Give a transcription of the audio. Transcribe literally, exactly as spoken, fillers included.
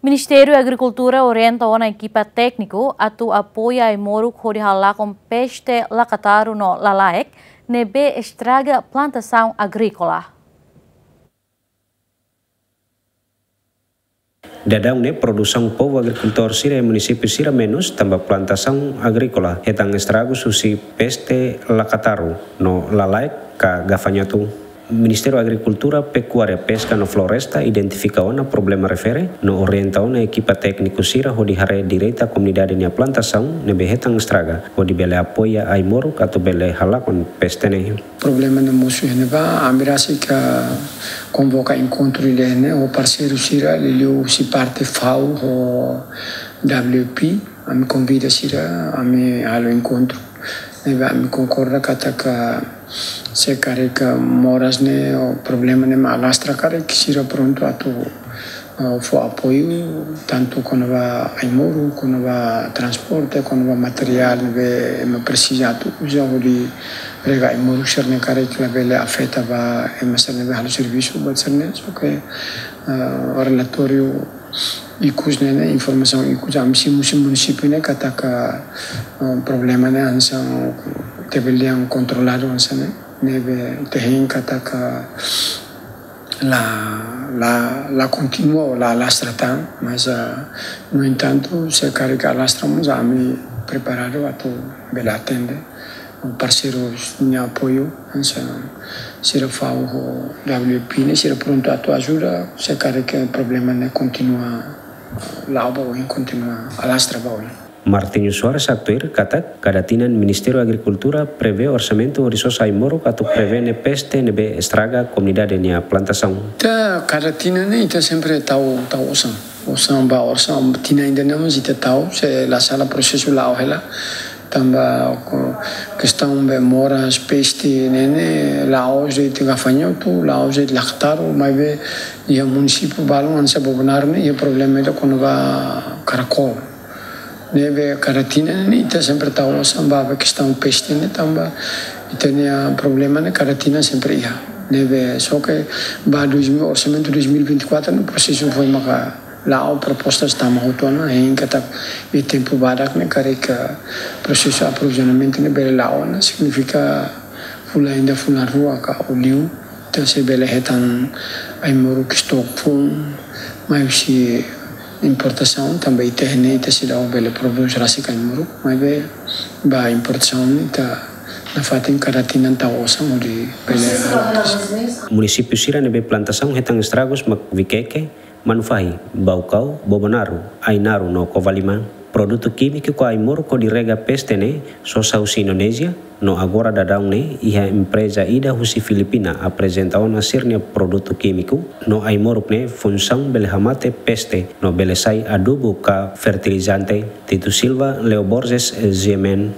Ministériu Agrikultura orienta ona ekipa tékniku atu apoia ai-moruk hodi halakon peste lakataru no lalaek ne'ebé estraga plantasaun agríkola. Daudaun ne'e produsaun povu agrikultór sira iha munisípiu sira menus tanba plantasaun agríkola hetan estragus husi peste lakataru no lalaek ka gafanhotu. Ministériu Agrikultura, Pekuária, Peska no Floresta identifika ona problema refere no orienta ona ekipa tékniku sira hodi haree direta komunidade nia plantasaun ne'ebé hetan estraga hodi bele apoia ai-moruk atu bele halakon peste ne'e. Problema ne'e mosu iha ne'ebá, ami rasik konvoka enkontru ida-ne'e ho parseiru sira, liuliu husi parte FAO ho W F P, ami konvida sira, ami halo enkontru. Ne'ebé ami konkorda katak se karik moras ne'e, ou problema ne'e mak alastra, karik sira prontu atu, ah, fó apoiu, tantu kona-ba ai-moruk, kona-ba transporte, kona-ba materiál ne'ebé ema presiza atu uza hodi rega ai-moruk sira-ne'e karik labele afeta ba ema sira ne'ebé halo servisu buat sira-ne'e. Só ke, ah, relatóriu ikus ne'e, ne'e, informasaun ikus ami simu husi munisípiu ne'e katak, ah, problema ne'e hanesan tebel lian kontroladu hanesan ne'e, ne'ebé ita hein katak la, la, la kontinua ou la alastra tan, mas, ah, no entantu, se karik alastra mós ami preparadu atu bele atende. Parseiru nia apoiu, hanesan sira FAO ho W F P ne'e, sira prontu atu ajuda se karik problema ne'e kontinua la'o ba oin, kontinua alastra ba oin. Martinho Soares haktuir katak kada tinan Ministériu Agrikultura prevee orsamentu hodi sosa ai-moruk atu prevene peste ne'ebé estraga komunidade nia plantasaun. Ita kada tinan ne'e ita sempre tau, tau osan. Osan ba osan, tinan ida-ne'e mós ita tau, se la sala prosesu la'o hela. Tanba ko-, kestaun be moras, peste ne'e, ne'e la'ós de'it gafanhotu, la'ós de'it lakataru, maibé iha munisípiu balun hanesan Bobonaro ne'e iha problema ida kona-ba karakol. Ne'ebé kada tinan ne'e ita sempre tau osan ba, ba kestaun peste ne'e, tanba ita-nia problema ne'e kada tinan sempre iha. Ne'ebé só ke ba dois mil, orsamentu dois mil e vinte e quatro ne'e prosesu foin maka la'o, propostas tama hotu ona, hein katak iha tempu badak ne'e karik prosesu aprovizionamentu ne'e bele la'o ona, signifika fulan ida, fulan rua ka liu, ita sei bele hetan ai-moruk stok foun, mai husi importasaun, tanba ita iha ne'e ita seidauk bele prodús rasik ai-moruk, maibé ba importasaun ita nafatin kada tinan tau osan hodi bele halo. Munisípiu sira ne'ebé plantasaun hetan estragus mak Viqueque, Manufahi, Baucau, Bobonaro, Ainaro no Covalima. Produtu kímiku ka ai-moruk hodi rega peste ne'e sosa husi Indonézia, no agora daudaun ne'e iha empreza ida husi Filipina aprezenta ona sira-nia produtu kímiku, no ai-moruk ne'e funsaun bele hamate peste no bele sai adubu ka fertilizante. Tito Silva, Leo Borges, G M N.